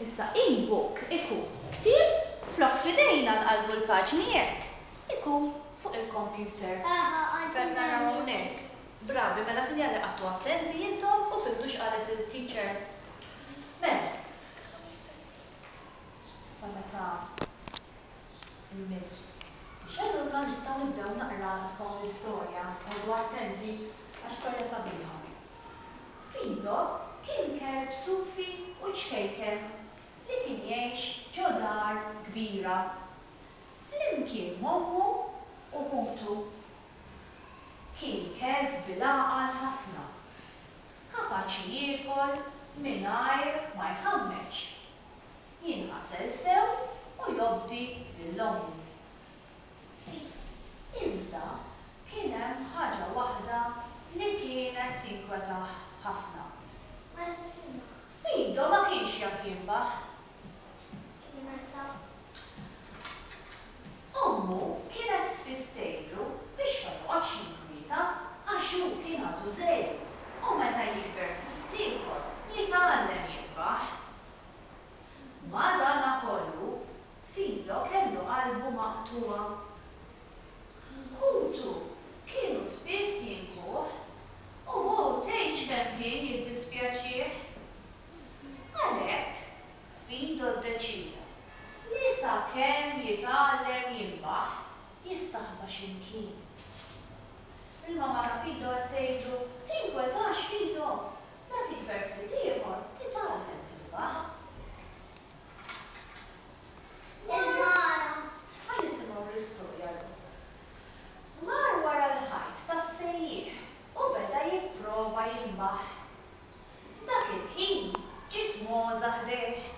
Issa e-book ikun ktieb flok f'idejna nqallbu l-paġni hekk, ikun fuq il-kompjuter. Fejn naraw hawnhekk. Bravi, mela sinjal li qgħadtu attenti intom u fhimtu x'qalet il-teacher. Mela. Issa meta l-Miss tixgħelulna nistgħu nibdew naqralkom l-istorja. Oqogħdu attenti għax storja sabiħa. Fido kien kelb sufi u ċkejken li kien jgħix ġo dar kbira flimkien m'ommu u ħutu. Kien kelb bil-għaqal ħafna, kapaċi jiekol mingħajr ma jħammeġ, jinħasel sew u jobdi lil ommu. Iżda kien hemm ħaġa waħda li kienet tinkwetah ħafna. Ma jistax jinbaħ. Fido ma kienx jaf jinbaħ. Jista'. Ommu kienet spiss tgħidlu biex ma joqgħodx jinkwieta għax hu kien għadu żgħir u meta jikber ftit ieħor jitgħallem jinbaħ. Madanakollu, Fido kellu qalbu maqtugħa. Ħutu kienu spiss jinkuh u hu tgħidx kemm kien jiddispjaċih. Għalhekk, Fido ddeċieda li sakemm jitgħallem jinbaħ, jistaħba xi mkien. Il-mamma ta' Fido qed tgħidlu, Tinkwetax Fido, la tikber ftit ieħor titgħallem tinbaħ. Il-mara. Ħa nisimgħu l-istorja llum. Mar wara l-ħajt tas-sejjieħ u beda jipprova jinbaħ. Dak il-ħin ġiet mogħża ħdejh.